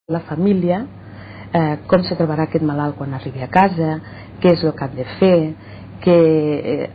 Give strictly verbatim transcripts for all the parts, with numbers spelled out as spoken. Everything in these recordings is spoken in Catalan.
la família, eh, com se trobarà aquest malalt quan arribi a casa, què és el que han de fer, que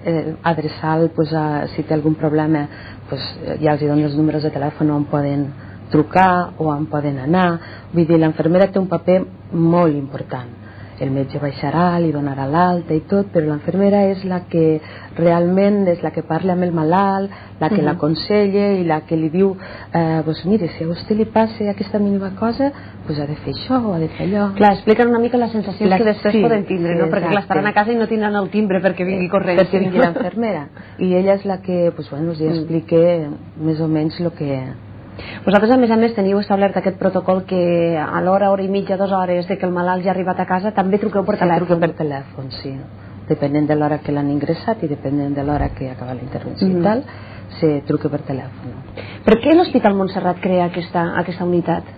eh, adreçar pues, a, si té algun problema pues, ja els dono els números de telèfon on poden trucar o on poden anar. Vull dir, l'infermera té un paper molt important. El metge baixarà, li donarà l'alta i tot, però l'infermera és la que realment és la que parla amb el malalt, la que uh-huh. l'aconsella i la que li diu eh, pues mire, si a vostè li passa aquesta mínima cosa, pues ha de fer això o ha de fer allò. Clar, expliquen una mica les sensacions la... que després sí, poden tindre, sí, no? Perquè clar, estaran a casa i no tindran el timbre perquè vingui corrent. Perquè vingui l'infermera. I ella és la que pues, bueno, us explica més o menys el que... Vosaltres, a més a més, teniu establert aquest protocol que a l'hora, hora i mitja, dues hores de que el malalt ja ha arribat a casa, també truqueu per telèfon. Sí, truquem per telèfon, sí. Depenent de l'hora que l'han ingressat i depenent de l'hora que acaba la intervenció mm. i tal, se truca per telèfon. Per què l'Hospital Montserrat crea aquesta, aquesta unitat?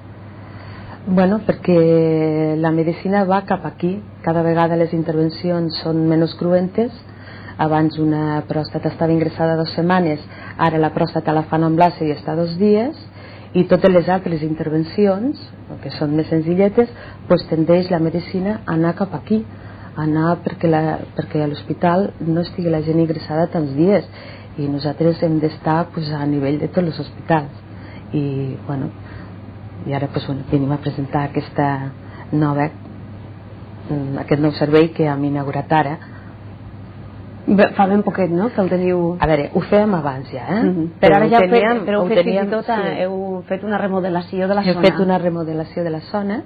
Bueno, perquè la medicina va cap aquí. Cada vegada les intervencions són menys cruentes. Abans una pròstata estava ingressada dues setmanes, ara la pròstata la fan amb làser i està dos dies, i totes les altres intervencions, que són més senzilletes, doncs tendeix la medicina a anar cap aquí, a anar perquè, la, perquè a l'hospital no estigui la gent ingressada tants dies, i nosaltres hem d'estar pues, a nivell de tots els hospitals. I, bueno, i ara pues, bueno, venim a presentar aquesta nova, aquest nou servei que hem inaugurat ara. Fa ben poquet, no?, que el teniu... A veure, ho fèiem abans ja, eh? Mm-hmm. Però, però ara ja teníem, fet, però heu fet teníem, fins i tot, sí. heu fet una remodelació de la Hem zona. Hem fet una remodelació de la zona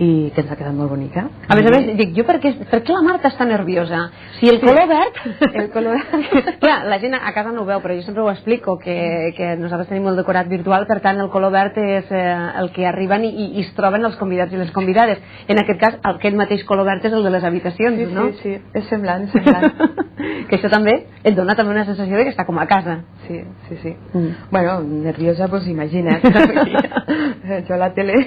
i que ens ha quedat molt bonica. A més a més, dic, jo per què, per què la Marta està nerviosa? Si el color verd... El color verd... Clar, la gent a casa no ho veu, però jo sempre ho explico, que, que nosaltres tenim el decorat virtual, per tant el color verd és eh, el que arriben i, i es troben els convidats i les convidades. En aquest cas, aquest mateix color verd és el de les habitacions, sí, no? Sí, sí, és semblant, és semblant. Que això també et dona també una sensació de que està com a casa. Sí, sí, sí. Mm. Bueno, nerviosa, doncs imagina't. Jo a la tele...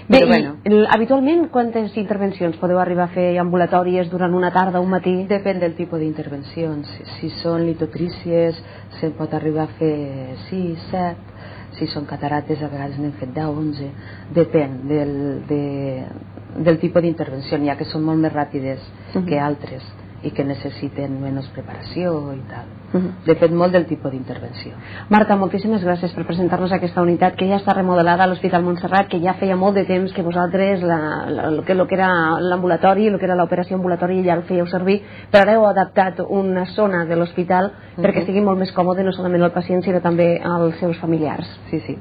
Bé, bueno. i, habitualment quantes intervencions podeu arribar a fer ambulatòries durant una tarda o un matí? Depèn del tipus d'intervencions. Si són litotrícies se'n pot arribar a fer sis, set. Si són catarates a vegades n'hem fet deu, onze. Depèn del, de, del tipus d'intervenció. Hi ha que són molt més ràpides uh-huh. que altres i que necessiten menys preparació i tal. Uh-huh. Depèn molt del tipus d'intervenció. Marta, moltíssimes gràcies per presentar-nos aquesta unitat que ja està remodelada a l'Hospital Montserrat, que ja feia molt de temps que vosaltres la, la, el, que, el que era l'ambulatori, el que era l'operació ambulatori ja el fèieu servir, però ara heu adaptat una zona de l'hospital uh-huh. perquè estigui molt més còmode no solament el pacient sinó també als seus familiars. Sí, sí.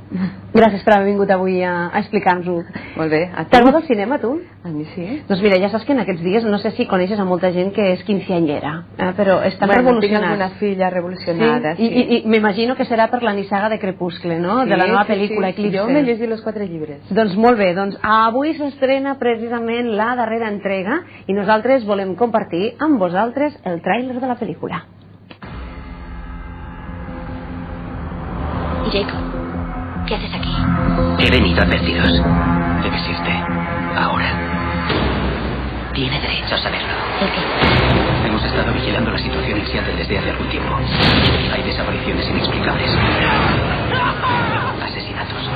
Gràcies per haver vingut avui a, a explicar-nos-ho. Molt bé. T'agrada el cinema, tu? A mi sí. Doncs mira, ja saps que en aquests dies, no sé si coneixes a molta gent que és quinceanyera, eh, però estan bueno, revolucionats. Tinc alguna filla revolucionada. Sí? Sí. I, i, i m'imagino que serà per la nissaga de Crepuscle, no? Sí, de la nova pel·lícula sí, sí. Eclipse. Jo m'he llegit els quatre llibres. Doncs molt bé, doncs avui s'estrena precisament la darrera entrega i nosaltres volem compartir amb vosaltres el tràiler de la pel·lícula. Jacob, ¿qué haces aquí? He venido a advertiros de que existe ahora. Tiene derecho a saberlo. ¿El qué? Hemos estado vigilando la situación en Seattle desde hace algún tiempo. Hay desapariciones inexplicables. Asesinatos.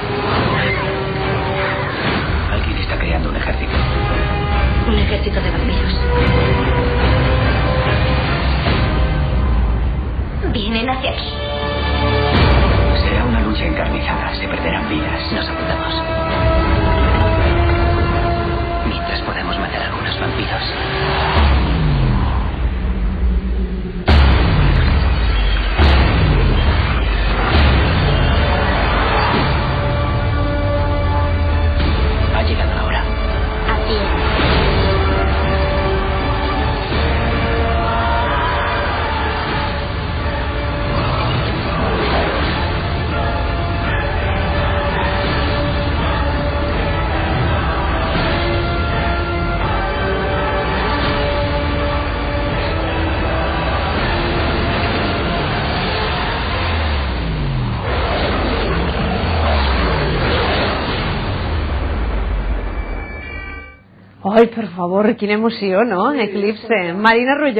Alguien está creando un ejército. Un ejército de vampiros. Vienen hacia aquí. Será una lucha encarnizada. Se perderán vidas. Nos apuntamos. Mientras podamos matar a algunos vampiros. Ha llegado la hora. Así es. Ai, per favor, quina emoció, no? Eclipse. Marina Rulló.